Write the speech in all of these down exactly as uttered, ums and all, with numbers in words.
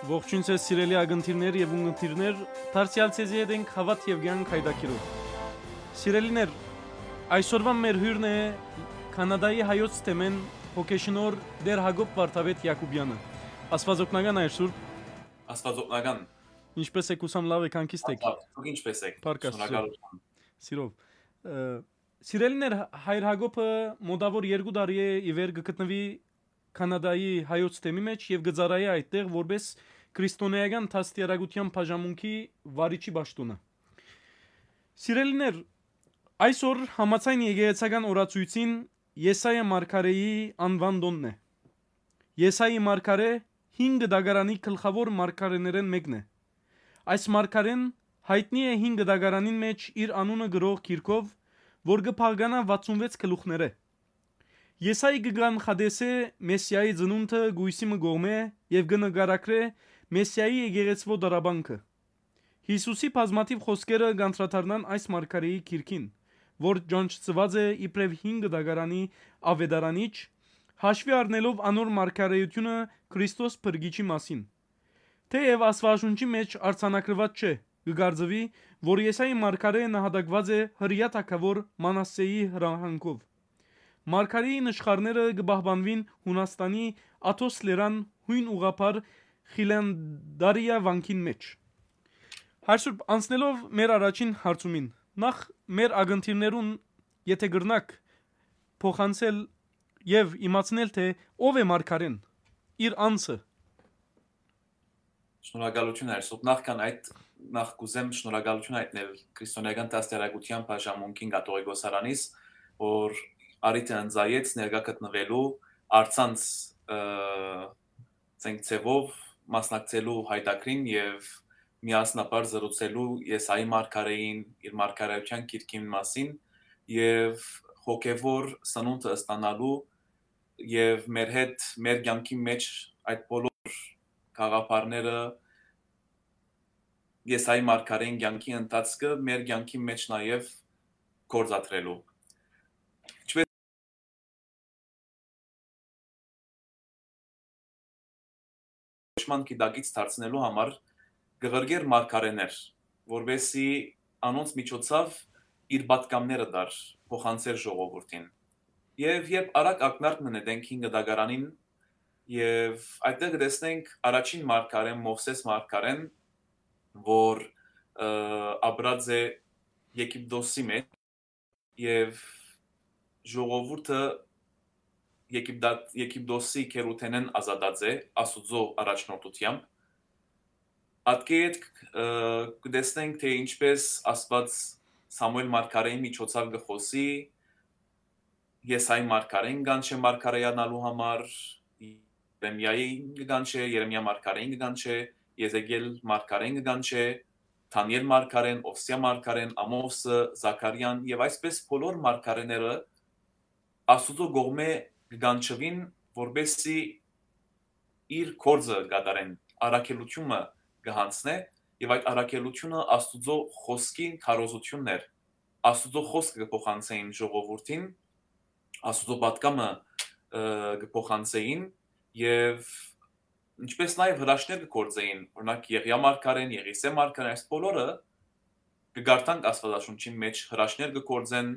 Ողջույն ձեզ, սիրելի ակնթիրներ եւ ունգընտիրներ, դարձեալ ձեզի հետ ենք Հաւատ եւ Կեանք յայտագիրով։ Սիրելիներ, այսօրվան մեր հիւրն է Քանադայի հայոց թեմէն հոգեշնորհ Տէր Յակոբ Վարդապետ Յակոբեանը։ Աստուածօգնական, Հայր Սուրբ։ Աստուածօգնական։ Ինչպե՞ս եք, ուսամ լաւ եք, հանգիստ եք։ Աստուած, դուք ինչպե՞ս եք։ Փառք Աստծո։ Շնորհակալություն։ Սիրով։ Ը, սիրելիներ, Հայր Յակոբը մոտաւոր երկու տարի է ի վեր կը գտնուի Քանադայի հայոց թեմի մէջ եւ կը ծառայէ այդտեղ որպէս քրիստոնէական դաստիարակութեան բաժանմունքի վարիչի պաշտօնը։ Սիրելիներ, այսօր համաձայն եկեղեցական օրացոյցին Եսայա մարգարէի անուան տօնն է։ Եսայի մարգարէ հինգ դագարանի գլխաւոր մարգարէներէն մէկն է։ Այս մարգարէն յայտնի է հինգ դագարանին մէջ իր անունը գրող գիրքով, որ կը բաղկանայ վաթսուն վեց գլուխներէ։ Եսայի կը կանխատեսէ Մեսիայի ծնունդը կոյսի մը կողմէ եւ կը նկարագրէ Մեսիայի եկեղեցւոյ տառապանքը։ Յիսուսի բազմաթիւ խօսքերը կանդրադառնան այս մարգարէի գիրքին, որ ճանչցուած է իբրեւ հինգ դագարանի աւետարանիչ, հաշուի առնելով անոր մարգարէութիւնը Քրիստոս փրկիչի մասին։ Թէեւ Աստուածաշունչի մէջ արձանագրուած չէ, կը կարծուի, որ Եսայի մարգարէ նահատակուած է Հրեայ թագաւոր Մանասսեի հրահանգով։ Մարգարէի նշխարները կը պահպանուին Յունաստանի Աթոս լերան յոյն ուղղափառ Խիլանդարիա վանքին մէջ։ Հայր Սուրբ, անցնելով մեր առաջին հարցումին, նախ մեր ակնթիրներուն, եթէ կրնաք, փոխանցել եւ իմացնել, թէ ով է մարգարէն, իր անձը։ Շնորհակալություն, Հայր Սուրբ։ Նախքան այդ, նախ կուզեմ շնորհակալություն հայտնել քրիստոնեական դաստիարակութեան բաժանմունքին կաթողիկոսարանից, որ առիթը ընծայեց ներկայ գտնուելու, առցանց, ը, ցենք ձևով մասնակցելու յայտագրին եւ միասնաբար զրուցելու Եսայի մարգարէին, իր մարգարէութեան գիրքին մասին եւ հոգեւոր սնունդը ստանալու եւ մեր հետ, մեր կեանքի մէջ այդ բոլոր գաղափարները, Եսայի մարգարէին կեանքի ընթացքը մեր կեանքի մէջ նաեւ գործադրելու։ Ինչպէս շնորհակալության գիտակից դարձնելու համար կը ղրկէր մարգարէներ, որպեսզի անոնց միջոցով իր պատգամները տար, փոխանցէր ժողովուրդին։ Եւ երբ արագ ակնարկ մը նետենք հինգ դագարանին, եւ այդտեղ կը տեսնենք առաջին մարգարէն, Մովսէս մարգարէն, որ, ը, ապրած է Եգիպտոսի մէջ, եւ ժողովուրդը Եգիպտա-, Եգիպտոսի գերութենէն ազատած է Աստուծոյ առաջնորդութեամբ։ Ատկէ ետք, ը, կը տեսնենք, թէ ինչպէս Աստուած Սամուէլ մարգարէի միջոցով կը խօսի, Եսայի մարգարէին կանչէ մարգարեանալու համար, Երեմիային կը կանչէ, Երեմիա մարգարէին կը կանչէ, Եզեկիել մարգարէին կը կանչէ, Դանիել մարգարէն, Ովսեա մարգարէն, Ամովսը, Զաքարիան եւ այսպէս բոլոր մարգարէները Աստուծոյ կողմէ կը կանչուին, որպեսզի իր գործը կատարեն, առաքելութիւնը կը յանցնէ, եւ այդ առաքելութիւնը Աստուծոյ խօսքին քարոզութիւնն էր։ Աստուծոյ խօսքը կը փոխանցէին ժողովուրդին, Աստուծոյ պատգամը, ը, կը փոխանցէին, եւ ինչպէս նաեւ հրաշքներ կը գործէին, օրինակ, Եղիա մարգարէն, Եղիսէ մարգարէն, այս բոլորը կը կարդանք Աստուածաշունչին մէջ, հրաշքներ կը գործեն,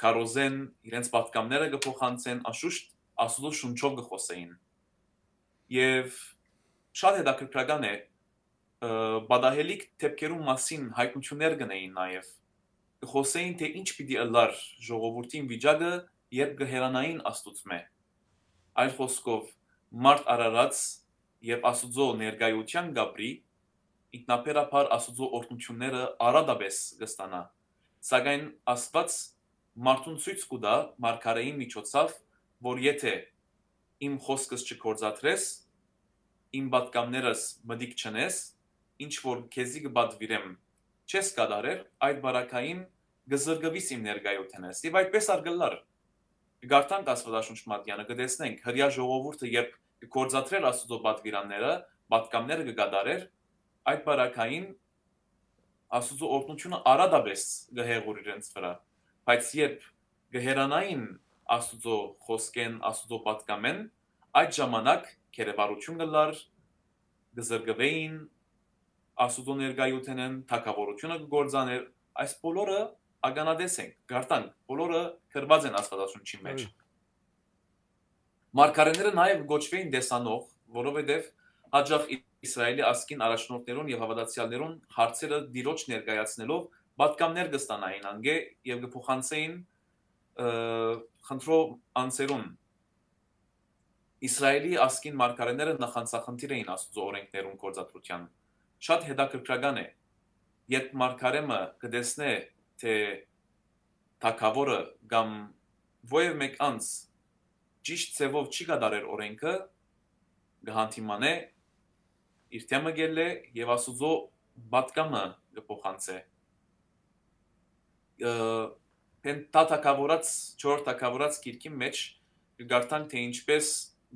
քարոզեն, իրենց պատգամները կը փոխանցեն, անշուշտ Աստուծոյ շունչով կը խօսէին։ Եւ շատ հետաքրքրական է, ը, պատահելիք դեպքերուն մասին յայտնութիւններ կ'ընէին նաեւ։ Կը խօսէին, թէ ինչ պիտի ըլլար ժողովուրդին վիճակը, երբ կը հեռանային Աստուծմէ։ Այլ խօսքով, մարդ արարած եւ Աստուծոյ ներկայութեան կ'ապրի, ինքնաբերաբար Աստուծոյ օրհնութիւնները արատապէս կը ստանայ։ Սակայն Աստուած մարդուն ցոյց կու տայ մարգարէին միջոցով, որ եթէ իմ խօսքս չգործադրես, իմ պատգամներս մտիկ չընես, ինչ որ քեզի կը պատուիրեմ, չես կատարեր, այդ պարագային կը զրկուիս իմ ներկայութենէս։ Եւ այդպէս ալ կ'ըլլար։ Կը կարդանք Աստուածաշունչ մատեանը, կը տեսնենք, Հրեայ ժողովուրդը երբ կը գործադրէր Աստուծոյ պատուիրանները, պատգամները կը կատարէր, այդ պարագային Աստուծոյ օրհնութիւնը արատապէս կը հեղուր իրենց վրայ։ Բայց երբ կը հեռանային Աստուծոյ խօսքէն, Աստուծոյ պատգամէն, այդ ժամանակ գերեվարութիւն կ'ըլլար, կը զրկուէին Աստուծոյ ներկայութենէն, թագաւորութիւնը կը կործանէր։ Այս բոլորը ականատես ենք, կ'արթանք, բոլորը գրուած են Աստուածաշունչին մէջ։ Այո։ Մարգարեները նաեւ կոչուէին տեսանող, որովհետեւ յաճախ Իսրայէլի ազգին առաջնորդներուն եւ հաւատացեալներուն հարցերը Տիրոջ ներկայացնելով պատգամներ կը ստանային անկէ եւ կը փոխանցէին, ը, խնդրող անձերուն։ Իսրայէլի ազգին մարգարեները նախանձախնդիր էին Աստուծոյ օրէնքներուն գործադրութեան։ Շատ հետաքրքրական է, երբ մարգարէ մը կը տեսնէ, թէ թագաւորը կամ որեւէ մէկ անձ ճիշտ ձեւով չի կատարեր օրէնքը, կը հանդիմանէ, իր դէմը կ'ելլէ եւ Աստուծոյ պատգամը կը փոխանցէ։ Ը, Պենթատագաւորաց, չորրորդ թագաւորաց գիրքին մէջ կը կարդանք, թէ ինչպէս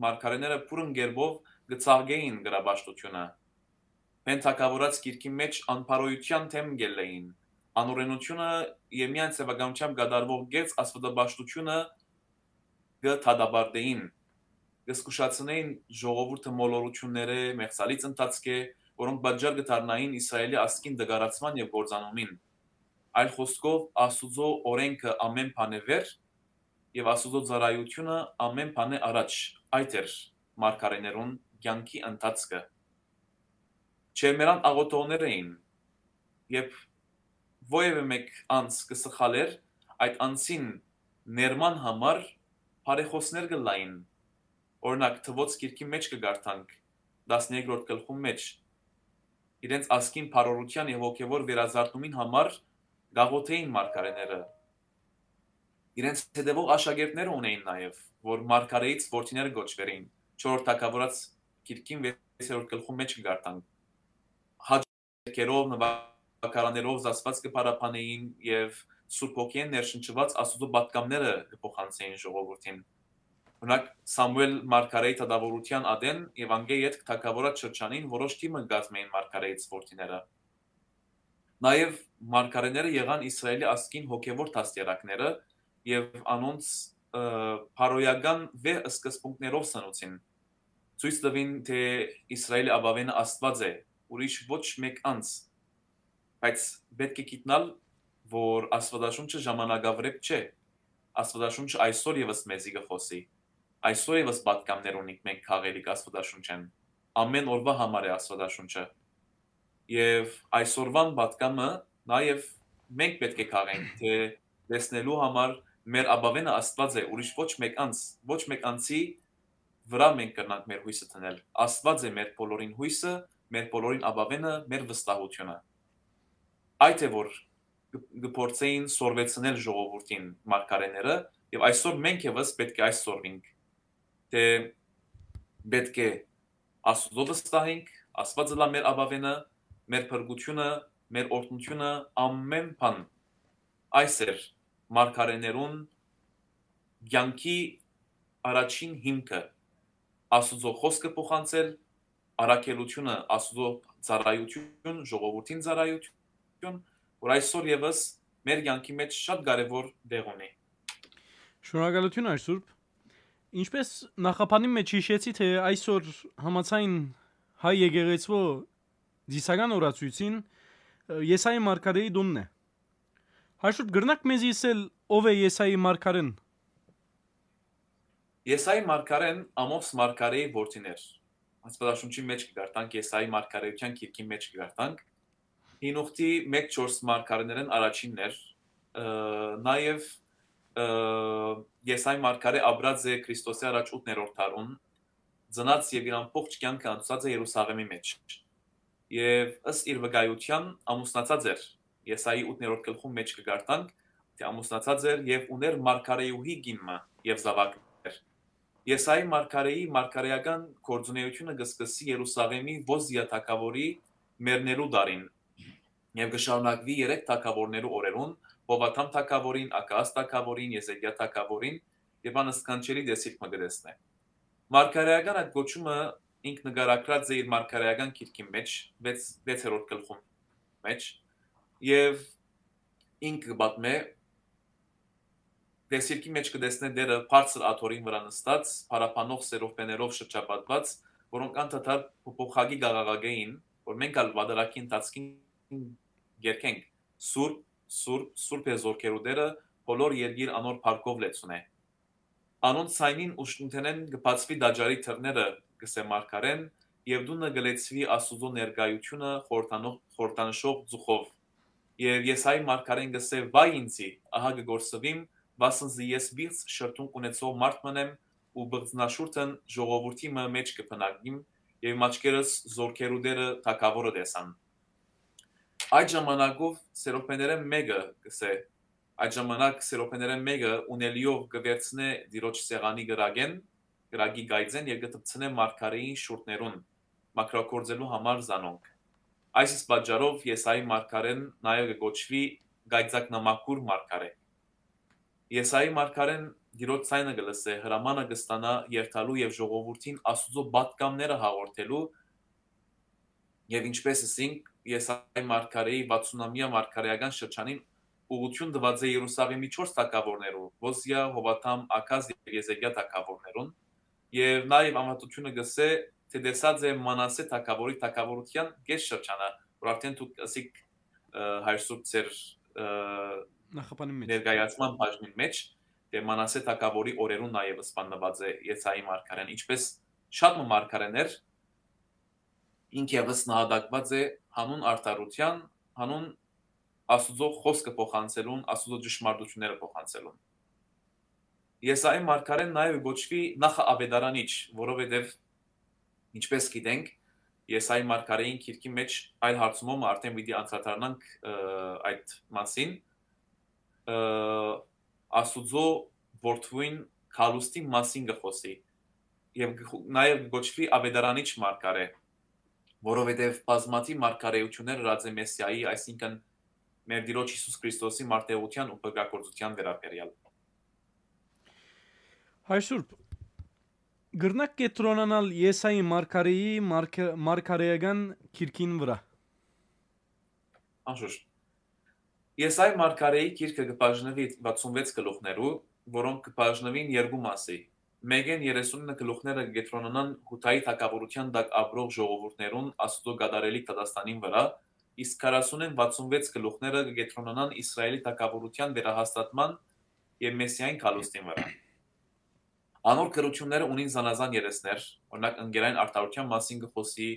մարգարէները բուռն կերպով կը ծաղկէին կրապաշտութիւնը։ Պենթագաւորաց գիրքին մէջ անբարոյութեան դէմ կ'ելլէին։ Անօրէնութիւնը եւ միայն ձեւականությամբ կատարուող կեղծ աստուածապաշտութիւնը կը դատապարտէին, կը զգուշացնէին ժողովուրդը մոլորութիւններէ, մեղսալից ընթացքէ, որոնք պատճառ կը դառնային Իսրայէլի ազգին տկարացման եւ կործանումին։ Այլ խօսքով, Աստուծոյ օրէնքը ամէն բանէ վեր եւ Աստուծոյ ծառայութիւնը ամէն բանէ առաջ, այդ էր մարգարէներուն կեանքի ընթացքը։ Չերմերան աղօթողներ էին, երբ որեւէ մէկ անձ կը սխալէր, այդ անձին ներման համար բարեխօսներ կ'ըլլային։ Օրինակ, Թուոց գիրքին մէջ կը կարդանք, տասներկրորդ գլխուն մէջ, իրենց ազգին բարօրութեան եւ հոգեւոր վերազարդումին համար կ'աղօթէին մարգարէները։ Իրենց հետեւող աշակերտները ունէին նաեւ, որ մարգարէից որդիները կոչուերին, չորրորդ թագաւորաց գիրքին վեցերորդ գլխուն մէջ կը կարդանք։ Հաճ երգերով, նուագարաններով զսպած կը փառաբանէին եւ Սուրբ Հոգիէն ներշնչուած Աստուծոյ պատգամները կը փոխանցէին ժողովուրդին։ Օրինակ, Սամուէլ մարգարէի դատաւորութեան ատեն եւ անկէ ետք թագաւորաց շրջանին որոշ թիմ կազմէին մարգարէից որդիները։ Նաեւ մարգարէները եղան Իսրայէլի ազգին հոգեւոր դաստիարակները եւ անոնց, ը, բարոյական վեհ սկզբունքներով սնուցին։ Ցոյց տուին, թէ Իսրայէլի ապաւէնը Աստուած է, ուրիշ ոչ մէկ անձ։ Բայց պէտք է գիտնալ, որ Աստուածաշունչը ժամանակավրէպ չէ։ Աստուածաշունչը այսօր եւս մեզի կը խօսի։ Այսօր եւս պատգամներ ունինք մենք քաղելիք Աստուածաշունչէն։ Ամէն օրուայ համար է Աստուածաշունչը։ Եւ այսօրուան պատգամը նաեւ մենք պէտք է քաղենք, թէ տեսնելու համար մեր ապաւէնը Աստուած է, ուրիշ ոչ մէկ անձ, ոչ մէկ անձի վրայ մենք կրնանք մեր յոյսը դնել։ Աստուած է մեր բոլորին յոյսը, մեր բոլորին ապաւէնը, մեր վստահութիւնը։ Այդ է որ կը, կը փորձէին սորվեցնել ժողովուրդին մարգարէները, եւ այսօր մենք եւս պէտք է այս սորվինք, թէ պէտք է Աստուծոյ վստահենք, Աստուած ըլլայ մեր ապաւէնը, մեր փրկութիւնը, մեր օրհնութիւնը, ամէն բան։ Այս էր մարգարէներուն կեանքի առաջին հիմքը, Աստուծոյ խօսքը փոխանցել, առաքելութիւնը, Աստուծոյ ծառայութիւն, ժողովուրդին ծառայութիւն, որ այսօր եւս մեր կեանքի մէջ շատ կարեւոր տեղ ունի։ Շնորհակալութիւն, Հայր Սուրբ։ Ինչպէս նախաբանին մէջ յիշեցի, թէ այսօր համաձայն հայ եկեղեցւոյ ծիսական օրացոյցին, ը, Եսայի մարգարէի տունն է։ Հայր Սուրբ, կրնա՞ք մեզի ըսել ով է Եսայի մարգարէն։ Եսայի մարգարէն Ամոս մարգարէի որդին էր։ Աստուածաշունչի մէջ կը կարդանք, Եսայի մարգարէութեան գիրքին մէջ կը կարդանք։ Հին Ուխտի մէկ չորս մարգարէներէն առաջինն էր, ը, նաեւ, ը, Եսայի մարգարէ ապրած է Քրիստոսի առաջ ութներորդ դարուն, ծնած եւ իր ամբողջ կեանքը անցուցած է Երուսաղէմի մէջ։ Եւ ըստ իր վկայութեան ամուսնացած էր, Եսայի ութներորդ գլխուն մէջ կը կարդանք, թէ ամուսնացած էր եւ ունէր մարգարէուհի կին մը եւ զաւակներ։ Եսայի մարգարէի մարգարէական գործունեութիւնը կը սկսի Երուսաղէմի Ոզիա թագաւորի մեռնելու տարին եւ կը շարունակուի երեք թագաւորներու օրերուն, Յովաթամ թագաւորին, Ակաազ թագաւորին, Եզեկիա թագաւորին, եւ անսքանչելի տեսիլք մը կը տեսնէ։ Մարգարէական այդ կոչումը ինք նկարագրած է իր մարգարէական գիրքին մէջ, վեց, վեցերորդ գլխուն մէջ, եւ ինք կը պատմէ, տեսիլքի մէջ կը տեսնէ Տէրը բարձր աթոռին վրայ նստած, փառաբանող սերովբեներով շրջապատուած, որոնք անդադար փոփոխակի կ'աղաղակէին, որ մենք ալ վատառակի ընթացքին կերկենք. «Սուրբ, սուրբ, սուրբ է զորքերու Տէրը, բոլոր երկիր անոր փառքով լեցուն է»։ Անոնց ձայնին ուշնութենէն կը բացուի տաճարի դռները, կ'ըսէ մարգարէն, եւ տունը կը լեցուի Աստուծոյ ներկայութիւնը խորհրդանող-, խորհրդանշող ծուխով։ Եւ Եսայի մարգարէն կ'ըսէ. «Վայ ինծի, ահա կը կորսուիմ, վասն զի ես պիղծ շրթունք ունեցող մարդ մըն եմ ու պղծնաշուրթն ժողովուրդի մը մէջ կը բնակիմ, եւ իմ աչքերս զորքերու Տէրը թագաւորը տեսան»։ Այդ ժամանակով սերոբեներէն մէկը կ'ըսէ, այդ ժամանակ սերոբեներէն մէկը ունելիով կը վերցնէ Տիրոջ սեղանի կրակէն, կրակի կայծէն եւ կը դպցնէ մարգարէին շուրթներուն, մաքրագործելու համար զանոնք։ Այս իսկ պատճառով Եսայի մարգարէն նաեւ կը կոչուի կայծակնամաքուր մարգարէ։ Եսայի մարգարէն Տիրոջ ձայնը կը լսէ, հրամանը կը ստանայ երթալու եւ ժողովուրդին Աստուծոյ պատգամները հաղորդելու, եւ ինչպէս ըսինք, Եսայի մարգարէի վաթսունամեայ մարգարէական շրջանին ուղղութիւն տուած է Երուսաղէմի չորս թագաւորներու՝ Յոզիա, Յովաթամ, Աքազ եւ Եզեկիա թագաւորներուն, եւ նաեւ անվատութիւնը կ'ըսէ, թէ տեսած է Մանասէ թագաւորի թագաւորութեան կէս շրջանը, որ արդէն դուք ըսիք, ը, հայր Սուրբ, ձեր, ը, Նախապանին մէջ։ Ներկայացման բաժնին մէջ, թէ Մանասէ թագաւորի օրերուն նաեւ սպաննուած է Եսայի մարգարէն, ինչպէս շատ մը մարգարէներ, ինք եւս նահատակուած է հանուն արդարութեան, հանուն Աստուծոյ խօսքը փոխանցելուն, Աստուծոյ ճշմարտութիւնները փոխանցելուն։ Եսայի մարգարէն նաեւ կոչուի նախաավետարանիչ, որովհետեւ, ինչպէս գիտենք, Եսայի մարգարէին գիրքի մէջ, այլ հարցումով մը արդէն պիտի անդրադառնանք, ը, այդ մասին, ը, Աստուծոյ որդւոյն գալուստի մասին կը խօսի եւ կը խո-, նաեւ կը կոչուի ավետարանիչ մարգարէ, որովհետեւ բազմաթիւ մարգարէութիւններ ըրած է Մեսիայի, այսինքն՝ մեր Տիրոջ Յիսուս Քրիստոսի մարտերութեան ու փրկագործութեան վերաբերեալ։ Հայր Սուրբ, կրնա՞ք կեդրոնանալ Եսայի մարգարէի մարգ-, մարգարէական գիրքին վրայ։ Անշուշտ։ Եսայի մարգարէի գիրքը կը բաժնուի վաթսուն վեց գլուխներու, որոնք կը բաժնուին երկու մասի։ Մէկէն երեսունինը գլուխները կը կեդրոնանան Յուդայի թագաւորութեան տակ ապրող ժողովուրդներուն Աստուծոյ կատարելիք դատաստանին վրայ, իսկ քառասունէն վաթսուն վեց գլուխները կը կեդրոնանան Իսրայէլի թագաւորութեան վերահաստատման եւ Մեսիային գալուստին վրայ։ Անոր գրութիւնները ունին զանազան երեսներ, օրինակ, ընկերային արդարութեան մասին կը խօսի,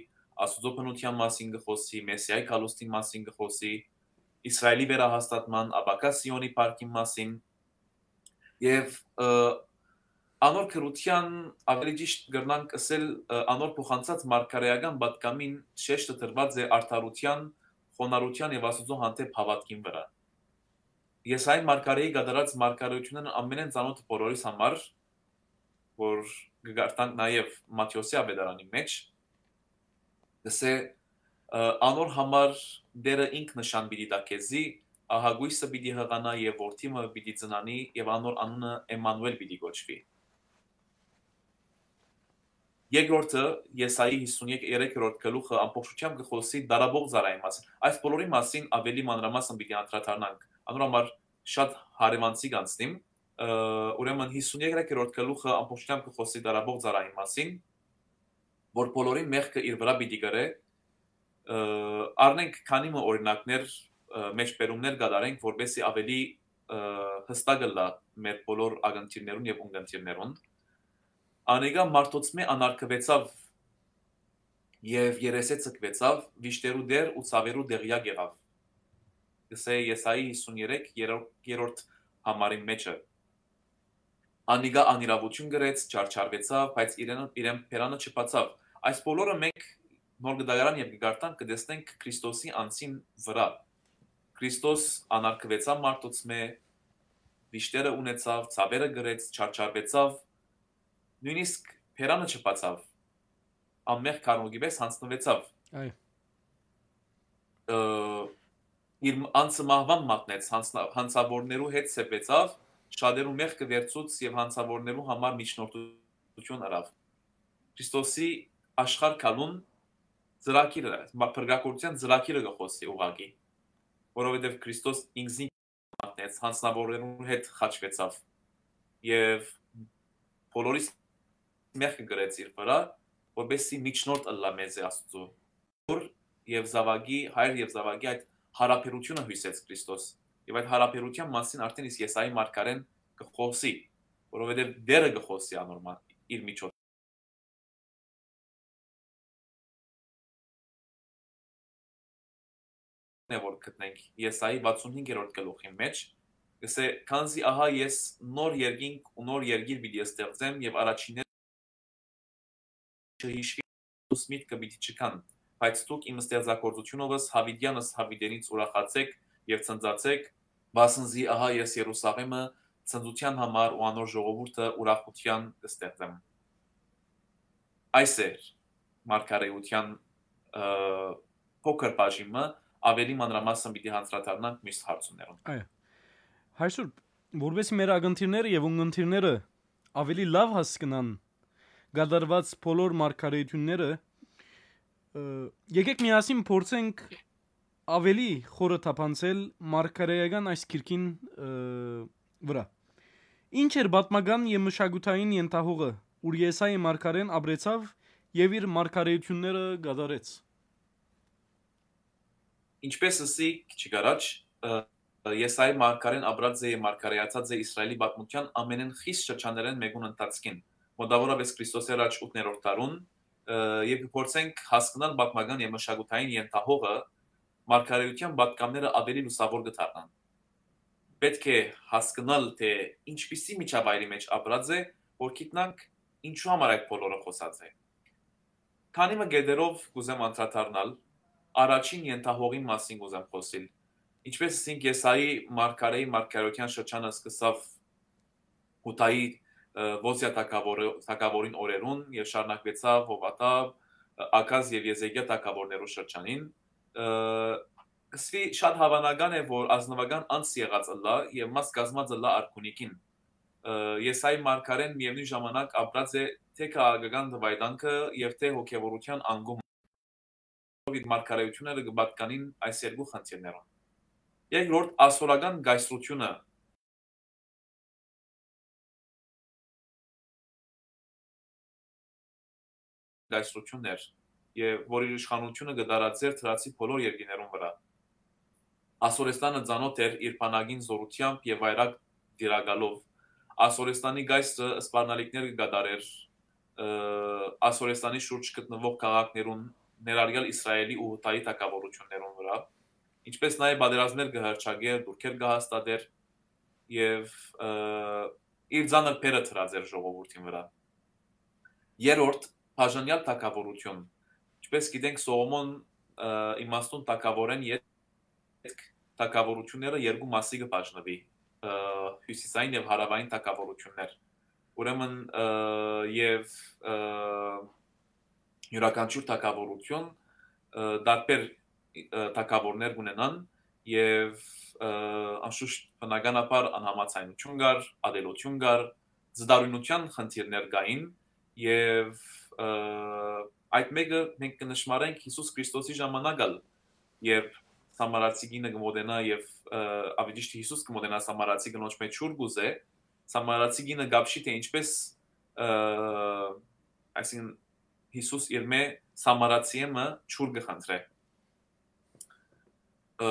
Աստուծոյ բնութեան մասին կը խօսի, Մեսիայի գալուստին մասին կը խօսի, Իսրայէլի վերահաստատման, ապագայ Սիոնի փառքին մասին, եւ, ը, անոր գրութեան, ավելի ճիշտ կրնանք ըսել, ը, անոր փոխանցած մարգարէական պատգամին շեշտը դրուած է արդարութեան, խոնարհութեան եւ Աստուծոյ հանդէպ հաւատքին վրայ։ Եսայի մարգարէի կատարած մարգարէութիւններն ամենէն ծանօթը բոլորիս համար, որ կը կարդանք նաեւ Մատթէոսի աւետարանին մէջ, կ'ըսէ, ը, անոր համար Տէրը ինք նշան պիտի տայ քեզի, ահագոյսը պիտի յղանայ եւ որդի մը պիտի ծնանի եւ անոր անունը Էմմանուէլ պիտի կոչուի։ Երկրորդը, Եսայի յիսուն երեք, երեքերորդ գլուխը ամբողջությամբ կը խօսի դարաբող ծառային մասին։ Այս բոլորի մասին ավելի մանրամասն պիտի անդրադառնանք։ Անոր համար շատ հարեւանցիկ անցնիմ, ը, ուրեմն յիսուն երեքերորդ գլուխը ամբողջությամբ կը խօսի դարաբող ծառային մասին, որ բոլորին մեղքը իր վրայ պիտի կրէ, ը, առնենք քանի մը օրինակներ, ը, մեջբերումներ կատարենք, որպեսզի ավելի, ը, յստակ ըլլայ մեր բոլոր ակնթիռներուն եւ ունկնդիրներուն։ Անիկա մարդոցմէ անարգուեցաւ եւ երեսէ ձգուեցաւ, վիշտերու տէր ու ցաւերու տեղեակ եղաւ, կ'ըսէ Եսայի յիսուն երեք, երրորդ, երրորդ համարին մէջը։ Անիկա անիրաւութիւն կրեց, չարչարուեցաւ, բայց իրեն, իրեն բերանը չբացաւ։ Այս բոլորը մենք Նոր Կտակարան երբ կը կարդանք, կը տեսնենք Քրիստոսի անձին վրայ։ Քրիստոս անարգուեցաւ մարդոցմէ, վիշտերը ունեցաւ, ցաւերը կրեց, չարչարուեցաւ, նոյնիսկ բերանը չբացաւ, անմեղ քարնուկի պէս յանձնուեցաւ։ Այո։ Ը, իր անձը մահուան մատնեց, յանձնա-, յանցաւորներու հետ սեպեցաւ, շատերու մեղքը վերցուց եւ յանցաւորներու համար միջնորդութիւն ըրաւ։ Քրիստոսի աշխարհ գալուն ծրագիրը, մա-, փրկագործութեան ծրագիրը կը խօսի ուղղակի, որովհետեւ Քրիստոս ինքզինք մատնեց, յանցաւորներուն հետ խաչուեցաւ եւ բոլորիս մեղքը կրեց իր վրայ, որպեսզի միջնորդ ըլլայ մեզի Աստուծոյ։ Որ եւ Զաւակի, հայր եւ Զաւակի այդ յարաբերութիւնը յուսեց Քրիստոս։ Եւ այդ յարաբերութեան մասին արդեն իսկ Եսայի մարգարէն կը խօսի, որովհետեւ Տէրը կը խօսի անոր մա-, իր միջոցով։ Է, որ գտնենք Եսայի վաթսուն հինգերորդ գլուխին մէջ, կսէ. «Քանզի ահա ես նոր երկինք ու նոր երկիր պիտի ստեղծեմ եւ առաջինները չհիշի, միտքը պիտի չքան, բայց դուք իմ ստեղծագործությունովս յաւիտեանս յաւիտենից ուրախացէք եւ ցնծացէք, վասն զի ահա ես Երուսաղէմը ցնծութեան համար ու անոր ժողովուրդը ուրախութեան կստեղծեմ»։ Այս էր մարգարէութեան, ը, փոքր բաժինը, ավելի մանրամասն պիտի անդրադառնանք մյուս հարցումներուն։ Այո։ Այսօր, որպեսզի մեր ակնթիռները եւ ունգընթիռները ավելի լաւ հասկնան կատարուած բոլոր մարգարէութիւնները, ը, եկէք միասին փորձենք ավելի խորը թափանցել մարգարէական այս գիրքին, ը, վրայ։ Ինչ էր պատմական եւ մշակութային ենթահողը, ուր Եսայի մարգարէն ապրեցաւ եւ իր մարգարէութիւնները կատարեց։ Ինչպէս ըսի քիչ առաջ, ը, Եսայի մարգարէն ապրած է եւ մարգարէացած է Իսրայելի պատմութեան ամենէն խիստ շրջաններէն մէկուն ընթացքին, մօտաւորապէս Քրիստոսի առաջ ութներորդ դարուն, ը, եւ կը փորձենք հասկնալ պատմական եւ մշակութային ենթահողը, մարգարէութեան պատգամները ավելի լուսաւոր կը դառնան։ Պէտք է հասկնալ, թէ ինչպիսի միջավայրի մէջ ապրած է, որ գիտնանք ինչու համար այդ բոլորը խօսած է։ Քանի մը կետերով կուզեմ անդրադառնալ, առաջին ենթահողին մասին կուզեմ խօսիլ։ Ինչպէս ասինք, Եսայի մարգարէի մարգարէութեան շրջանը սկսաւ Յուդայի, ը, Յովսեա թագաւորը-, թագաւորին օրերուն եւ շարունակուեցաւ Յովաթա, ը, Աքազ եւ Եզեկիա թագաւորներու շրջանին, ը, կսուի շատ հաւանական է, որ ազնուական անձ եղած ըլլայ եւ մաս կազմած ըլլայ արքունիքին։ Ը, Եսայի մարգարէն միեւնոյն ժամանակ ապրած է թէ քաղաքական դվայտանքը եւ թէ հոգեւորութեան անկումը, իր մարգարէութիւնները կը պատկանին այս երկու խնդիրներուն։ Երկրորդ, ասորական կայսրութիւնը կայսրութիւնն էր, եւ որ իր իշխանութիւնը կը տարածէր դրացի բոլոր երկիներուն վրայ։ Ասորեստանը ծանօթ էր իր բանակին զօրութեամբ եւ վայրագ տիրակալով։ Ասորեստանի կայսրը սպառնալիքներ կը կատարէր, ը, Ասորեստանի շուրջ գտնուող քաղաքներուն, ներառյալ Իսրայելի ու Յուդայի թագաւորութիւններուն վրայ, ինչպէս նաեւ պատերազմներ կը հռչակէր, դուրքեր կը հաստատէր եւ, ը, իր ծանր բեռը դրած էր ժողովուրդին վրայ։ Երրորդ, բաժանեալ թագաւորութիւն։ Ինչպէս գիտենք, Սողոմոն, ը, իմաստուն թագաւորէն ետք թագաւորութիւնները երկու մասի կը բաժնուի, ը, հիւսիսային եւ հարաւային թագաւորութիւններ։ Ուրեմն, ը, եւ, ը, իւրաքանչիւր թագաւորութիւն, ը, տարբեր, ը, թագաւորներ կունենան եւ, ը, անշուշտ բնականաբար անհամաձայնութիւն կար, ատելութիւն կար, զտարունութեան խնդիրներ կային եւ, ը, այդ մէկը մենք կը նշմարենք Յիսուս Քրիստոսի ժամանակ ալ, երբ սամարացի կինը կը մոտենայ եւ, ը, ավելի ճիշդ Յիսուս կը մոտենայ սամարացի կնոջ մէջ ջուր կ'ուզէ, սամարացի կինը կ'ապշի թէ ինչպէս, ը, այսինքն Յիսուս իրմէ սամարացիէ մը ջուր կը խնդրէ։ Ը,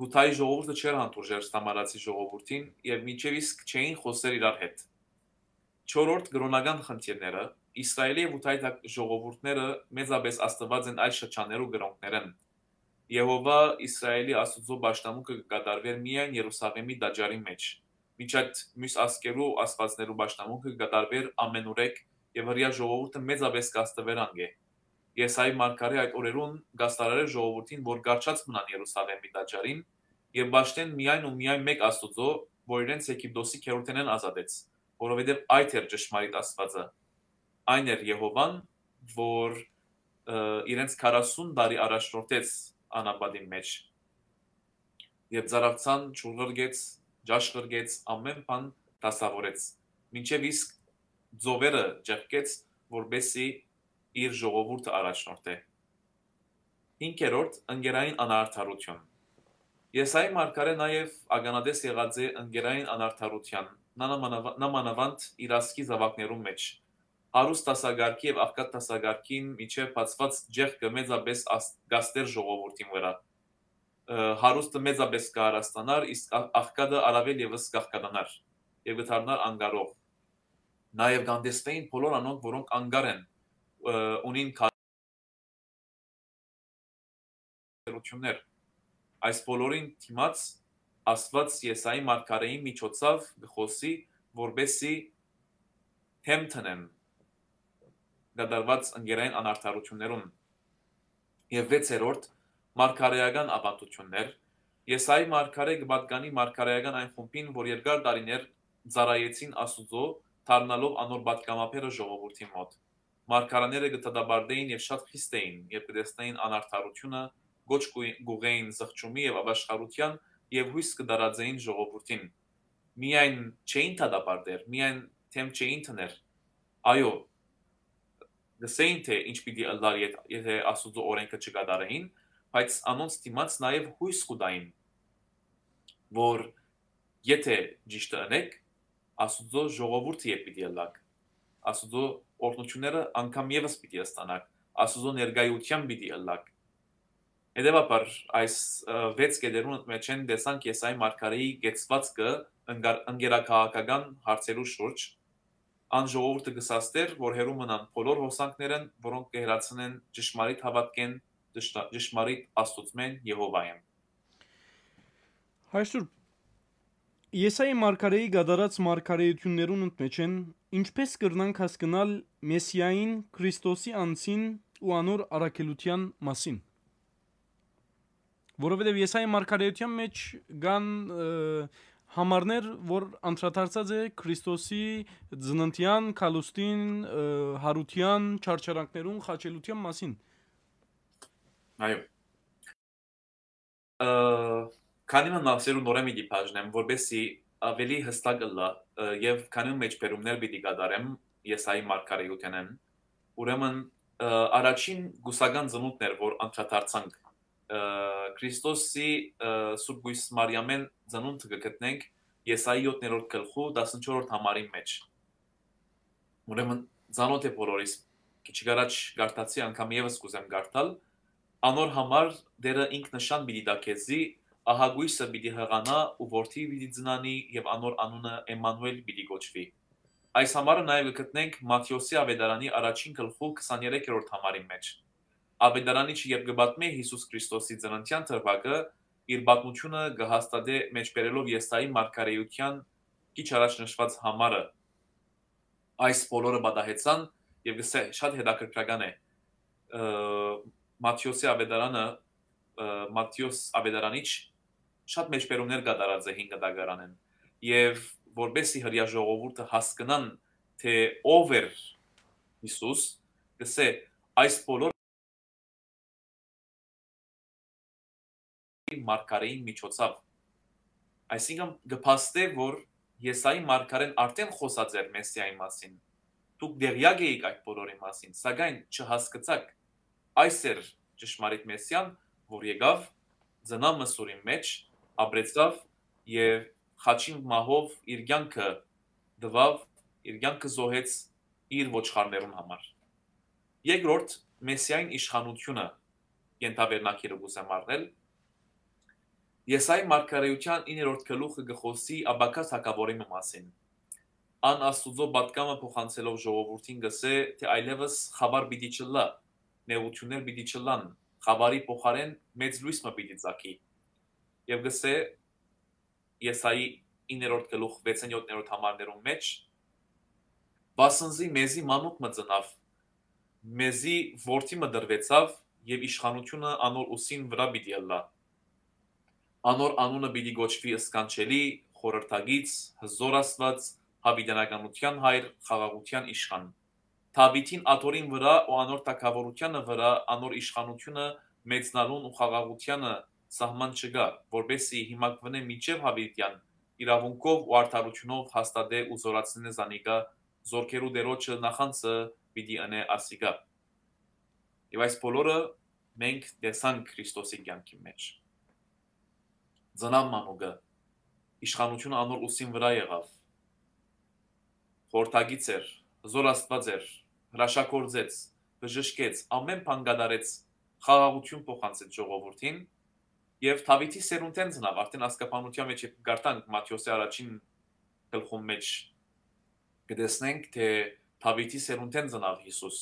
Յուդայի ժողովուրդը չէր հանդուրժեր սամարացի ժողովուրդին եւ մինչեւ իսկ չէին խօսեր իրար հետ։ Չորրորդ, կրօնական խնդիրները։ Իսրայէլի եւ Յուդայի թագ-, ժողովուրդները մեծապէս ազդուած են այս շրջաններու կրօնքներէն։ Եհովա Իսրայէլի Աստուծոյ պաշտամունքը կը կատարուէր միայն Երուսաղէմի տաճարին մէջ, մինչ այդ միւս ազգերու աստուածներու պաշտամունքը կը կատարուէր ամենուրեք եւ հրեայ ժողովուրդը մեծապէս կ'ազդուէր անկէ։ Եսայի մարգարէ այդ օրերուն կ'աստարարէր ժողովուրդին, որ կառչած մնան Երուսաղէմի տաճարին եւ պաշտեն միայն ու միայն մէկ Աստուծոյ, որ իրենց Եգիպտոսի գերութենէն ազատեց, որովհետեւ այդ էր ճշմարիտ Աստուածը։ Այն էր Եհովան, որ, ը, իրենց քառասուն տարի առաջնորդեց անապատին մէջ, երբ ծառացան, ջուր ղրկեց, ճաշ ղրկեց, ամէն բան դասաւորեց, մինչեւ իսկ ծովերը ճեղքեց, որպեսզի իր ժողովուրդը առաջնորդէ։ Հինգերորդ, ընկերային անարդարութիւն։ Եսայի մարգարէ նաեւ ականատես եղած է ընկերային անարդարութեան, նամանավա-, նամանավանդ իր ազգի զաւակներուն մէջ, Հարուստ դասակարգի եւ աղքատ դասակարգին միջեւ բացուած ճեղքը մեծապէս աս-, կաստէր ժողովուրդին վրայ։ Ը, հարուստը մեծապէս կ'արաստանար, իսկ ա-, աղքատը առաւել եւս կ'աղքատանար եւ կը դառնար անկարող։ Նաեւ կ'անտեսվէին բոլոր անոնք, որոնք անկար են, ը, ունին կարելիություններ։ Այս բոլորին դիմաց Աստուած Եսայի մարգարէին միջոցաւ կը խօսի, որպեսզի դէմ դնեն կատարուած ընկերային անարդարութիւններուն։ Եւ վեցերորդ, մարգարէական աւանդութիւններ։ Եսայի մարգարէ կը պատկանի մարգարէական այն խումբին, որ երկար տարիներ ծառայեցին Աստուծոյ, դառնալով անոր պատգամաբերը ժողովուրդին մօտ։ Մարգարեները կը դատապարտէին եւ շատ խիստ էին, երբ կը տեսնէին անարդարութիւնը, կոչ կու-, կ'ուղղէին զղջումի եւ ապաշխարութեան եւ յոյս կը տարածէին ժողովուրդին։ Միայն չէին դատապարտեր, միայն դէմ չէին դներ։ Այո, կ'ըսէին, թէ ինչ պիտի ըլլար, եթ-, եթէ Աստուծոյ օրէնքը չկատարէին, բայց անոնց դիմաց նաեւ յոյս կու տային, որ եթէ ճիշդը ընէք, Աստուծոյ ժողովուրդը երբ պիտի ըլլաք, Աստուծոյ օրհնութիւնները անգամ եւս պիտի ստանաք, Աստուծոյ ներկայութեան պիտի ըլլաք։ Հետեւաբար, այս, ը, վեց կետերուն մէջէն տեսանք Եսայի մարգարէի կեցուածքը ընկար-, ընկերաքաղաքական հարցերու շուրջ։ Ան ժողովուրդը կը սաստէր, որ հեռու մնան բոլոր հոսանքներէն, որոնք կը հեռացնեն ճշմարիտ հաւատքէն, ճշմա-, ճշմարիտ Աստուծմէն, Եհովայէն։ Այսուր, Եսայի մարգարէի կատարած մարգարէութիւններուն մէջէն ինչպէս կրնանք հասկնալ Մեսիային, Քրիստոսի անձին ու անոր առաքելութեան մասին։ Որովհետեւ Եսայի մարգարէութեան մէջ կան, ը, համարներ, որ անդրադարձած է Քրիստոսի ծննդեան, քալուստին, ը, յարութեան, չարչարանքներուն, խաչելութեան մասին։ Այո։ Ը, քանի մը մասերու նորէն պիտի բաժնեմ, որպեսզի աւելի յստակ ըլլայ, ը, եւ քանի մը մէջբերումներ պիտի կատարեմ Եսայի մարգարէութենէն։ Ուրեմն, ը, առաջին կուսական ծնունդն էր, որ անդրադարձանք, ը, Քրիստոսի, ը, Սուրբ Կոյս Մարիամէն ծնունդը կը գտնենք Եսայի յոթերորդ գլխու տասնչորսերորդ համարին մէջ։ Ուրեմն, ծանօթ է բոլորիս, քիչ առաջ կարդացի, անգամ եւս կ'ուզեմ կարդալ. «Անոր համար Տէրը ինք նշան պիտի տայ քեզի, ահագոյսը պիտի յղանայ ու որդի պիտի ծնանի եւ անոր անունը Էմմանուէլ պիտի կոչուի»։ Այս համարը նաեւ կը գտնենք Մատթէոսի աւետարանի առաջին գլխու քսաներեքերորդ համարին մէջ։ Աւետարանիչը, երբ կը պատմէ Յիսուս Քրիստոսի ծննդեան դրուագը, իր պատմութիւնը կը հաստատէ մէջբերելով Եսայի մարգարէութեան քիչ առաջ նշուած համարը։ Այս բոլորը պատահեցան եւ կ'ըսէ, շատ հետաքրքրական է, ը, Մատթէոսի աւետարանը, ը, Մատթէոս աւետարանիչ շատ մէջբերումներ կատարած է հին կտակարանեն, եւ որպեսզի հրեայ ժողովուրդը հասկնան, թէ ով էր Յիսուս, կ'ըսէ, այս բոլոր մարգարէին միջոցաւ։ Այսինքն, կը փաստէ, որ Եսայի մարգարէն արդեն խօսած էր Մեսիայի մասին։ Դուք տեղյակ էիք այդ բոլորի մասին, սակայն չհասկցաք։ Այս էր ճշմարիտ Մեսիան, որ եկաւ, ծնաւ Մսուրին մէջ, ապրեցաւ եւ խաչին մահով իր կյանքը տուաւ, իր կյանքը զոհեց իր ոչխարներուն համար։ Երկրորդ, Մեսիային իշխանութիւնը ենթավերնագիրը կ'ուզեմ առնել։ Եսայի մարգարէութեան իններորդ գլուխը կը խօսի ապագայ թագաւորի մը մասին։ Ան Աստուծոյ պատգամը փոխանցելով ժողովուրդին կ'ըսէ, թէ այլեւս խաւար պիտի չըլլայ, նեղութիւններ պիտի չըլլան, խաւարի փոխարէն մեծ լոյս մը պիտի ծագի։ Եւ կ'ըսէ Եսայի իններորդ գլուխ վեցերորդ, յոթերորդ համարներուն մէջ. «Վասն զի մեզի մանուկ մը ծնաւ, մեզի որդի մը տրուեցաւ եւ իշխանութիւնը անոր ուսին վրայ պիտի ըլլայ։ Անոր անունը պիտի կոչուի Սքանչելի, Խորհրդագից, Հզոր Աստուած, Յաւիտենականութեան Հայր, Խաղաղութեան Իշխան»։ Դաւիթին աթոռին վրայ ու անոր թագաւորութեանը վրայ անոր իշխանութիւնը մեծնալուն ու խաղաղութեանը սահման չկայ, որպեսզի հիմակվնէ մինչեւ յաւիտեան իրաւունքով ու արդարութիւնով հաստատէ ու զօրացնէ զանիկա, զօրքերու Տէրոջը նախանձը պիտի ընէ ասիկա։ Եւ այս բոլորը մենք տեսանք Քրիստոսի կեանքին մէջ։ Ծնաւ մանուկը, իշխանութիւնը անոր ուսին վրայ եղաւ, խորհրդագից էր, Հզոր Աստուած էր, հրաշագործեց, բժշկեց, ամէն բան կատարեց, խաղաղութիւն փոխանցեց ժողովուրդին, եւ Դաւիթի սերունդէն ծնաւ, արդէն ազգաբանութեան մէջ երբ կարդանք Մատթէոսի առաջին գլխուն մէջ, կը տեսնենք թէ Դաւիթի սերունդէն ծնաւ Յիսուս,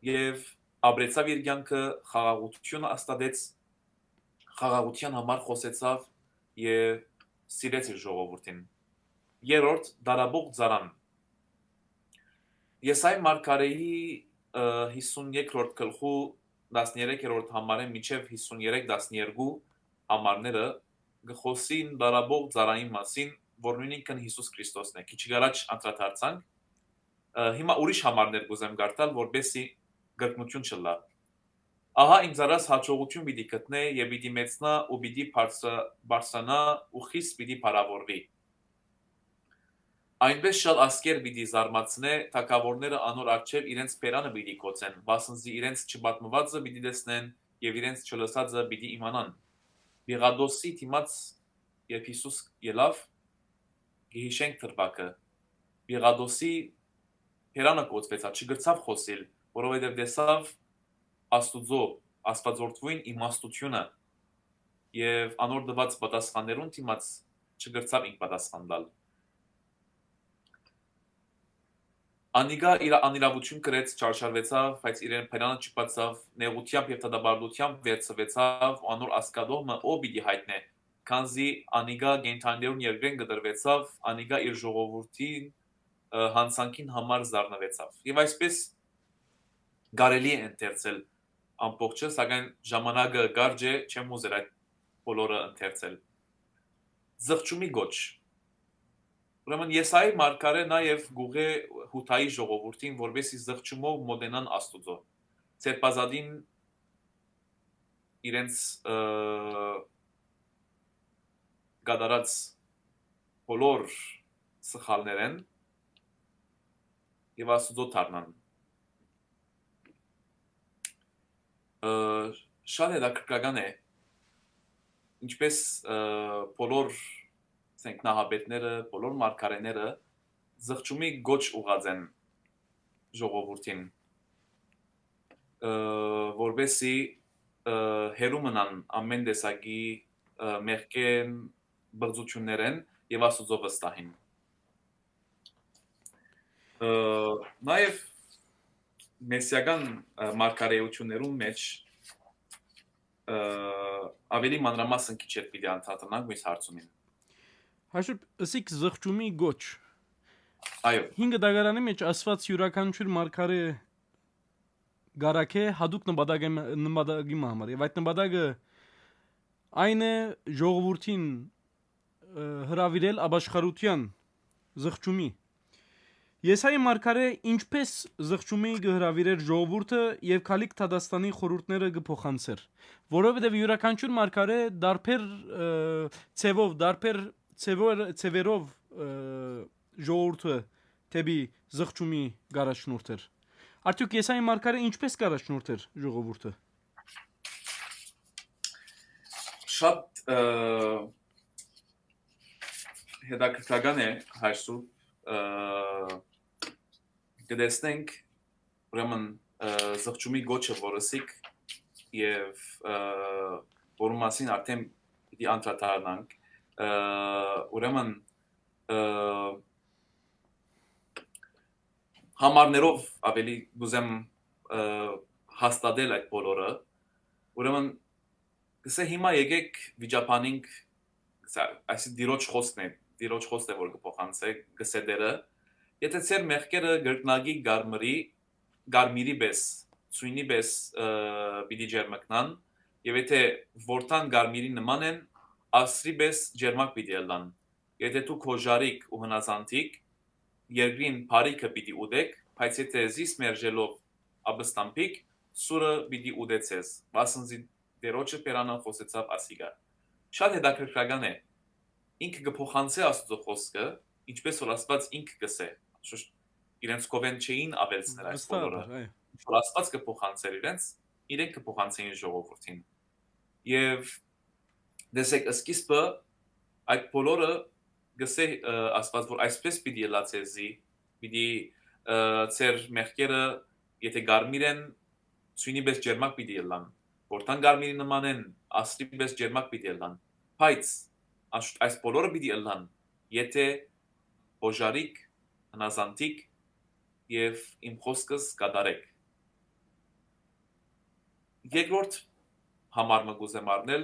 եւ ապրեցաւ իր կեանքը, խաղաղութիւն հաստատեց, խաղաղութեան համար խօսեցաւ եւ սիրեց իր ժողովուրդին։ Երրորդ, դարաբող ծառան։ Եսայի մարգարէի, ը, հիսուն երկրորդ գլխու տասներեքերորդ համարէն մինչեւ հիսուն երեք տասներկու համարները կը խօսին դարաբող ծառային մասին, որ նույնինքն Յիսուս Քրիստոսն է։ Քիչ առաջ անդրադարձանք, ը, հիմա ուրիշ համարներ կ'ուզեմ կարդալ, որպեսզի կրկնութիւն չըլլայ։ «Ահա իմ ծառաս յաջողութիւն պիտի գտնէ եւ պիտի մեծնայ ու պիտի բարձր-, բարձրանայ ու խիստ պիտի փառաւորուի։ Այնպէս շալ ազգեր պիտի զարմացնէ, թագաւորները անոր առջեւ իրենց բերանը պիտի գոցեն, վասն զի իրենց չպատմուածը պիտի տեսնեն եւ իրենց չլսածը պիտի իմանան»։ Պիղատոսի դիմաց, երբ Յիսուս ելաւ, կը յիշենք դրուագը, Պիղատոսի բերանը կոծուեցաւ, չկրցաւ խօսիլ, որովհետեւ տեսաւ Աստուծոյ, Աստուածորդուին իմաստութիւնը եւ անոր տուած պատասխաններուն դիմաց չկրցաւ ինք պատասխան տալ։ Անիկա իր անիրաւութիւն կրեց, չարչարուեցաւ, բայց իրեն բերանը չբացաւ, նեղութեամբ եւ դատապարտութեամբ վերցուեցաւ ու անոր ազգատոհմը ո՞վ պիտի յայտնէ, քանզի անիկա կենդանիներուն երկրէն կտրուեցաւ, անիկա իր ժողովուրդին, ը, յանցանքին համար զարնուեցաւ։ Եւ այսպէս կարելի է ընթերցել ամբողջը, սակայն ժամանակը կարճ է, չեմ ուզեր այդ բոլորը ընթերցել։ Զղջումի գոչ։ Ուրեմն Եսայի մարգարէ նաեւ կուղղէ Յուդայի ժողովուրդին, որպեսզի զղջումով մոտենան Աստուծոյ, Սերբազատին իրենց, ը, կատարած բոլոր սխալներէն եւ Աստուծոյ դառնան։ Ը, շատ հետաքրքրական է, ինչպես, ը, բոլոր, ասենք, նահապետները, բոլոր մարգարեները զղջումի գոչ ուղղած են ժողովուրդին, ը, որպեսզի, ը, հեռու մնան ամէն տեսակի, ը, մեղքէն, բղծութիւններէն եւ Աստուծոյ վստահին։ Ը, նաեւ մեսիական, ը, մարգարէութիւններուն մէջ, ը, աւելի մանրամասն քիչ հետ պիտի անդրադառնանք մյուս հարցումին։ Հաշիպ, ըսիք զղջումի գոչ։ Այո։ Հինգ դագարանի մէջ ասված յուրաքանչյուր մարգարէ կ'առաքէ յատուկ նպատակի, նպատակի մը համար։ Եւ այդ նպատակը այն է ժողովուրդին, ը, հրաւիրել ապաշխարութեան զղջումի։ Եսայի մարգարէ ինչպես զղջումի կը հրաւիրէր ժողովուրդը եւ գալիք դատաստանի խորհուրդները կը փոխանցէր, որովհետեւ յուրաքանչյուր մարգարէ դարբեր, ը, ձևով, դարբեր ձևեր-, ձևերով, ը, ժողովուրդը դէպի զղջումի կ'առաջնորդէր։ Արդեօք Եսայի մարգարէ ինչպես կ'առաջնորդէր ժողովուրդը։ Շատ, ը, հետաքրքրական է, հայր Սուրբ, ը, կը տեսնենք, ուրեմն, ը, զղջումի գոչը, որ ըսիք, եւ, ը, որու մասին արդեն պիտի անդրադառնանք, ը, ուրեմն, ը, համարներով աւելի կ'ուզեմ, ը, հաստատել այդ բոլորը, ուրեմն, կսե հիմա եկեք վիճաբանենք, սա, այսինքն Տիրոջ խոսքն է, Տիրոջ խոսքն է, որ կը փոխանցէ, կսե Տերը, եթե ձեր մեղքերը կրկնակի կարմրի, կարմիրի պէս, ցոյնի պէս, ը, պիտի ջերմկնան, եւ եթե որթան կարմիրի նման են, ասրի պէս ջերմակ պիտի ըլլան։ Եթե դուք հոժարիք ու հնազանդիք, երկրին բարիքը պիտի ուտեք, բայց եթե զիս մերժելով ապստամբիք, սուրը պիտի ուտե ձեզ, վասն զի Տիրոջը բերանը խօսեցաւ ասիկա։ Շատ հետաքրքրական է, ինքը կը փոխանցէ Աստուծոյ խոսքը, ինչպես որ Աստուած ինքը կ'ըսէ, շուշ իրենց կովեն չէին աւելցներ այս Վստահ բոլորը։ Էր, այո։ Ինչ որ Աստուած կը փոխանցէր իրենց, իրենք կը փոխանցէին ժողովուրդին։ Եւ տեսեք, սկիզբը այդ բոլորը գսե, ը, Աստուած, որ այսպես պիտի ըլլայ ձեզի, պիտի, ը, ձեր մեղքերը, եթէ կարմիր են, ձիւնի պէս ճերմակ պիտի ըլլան, որքան կարմիրի նման են, ասրի պէս ճերմակ պիտի ըլլան, բայց այս, այս բոլորը պիտի ըլլան, եթէ օժարիք, հնազանդիք եւ իմ խօսքս կատարեք»։ Երկրորդ համար մը կ'ուզեմ առնել,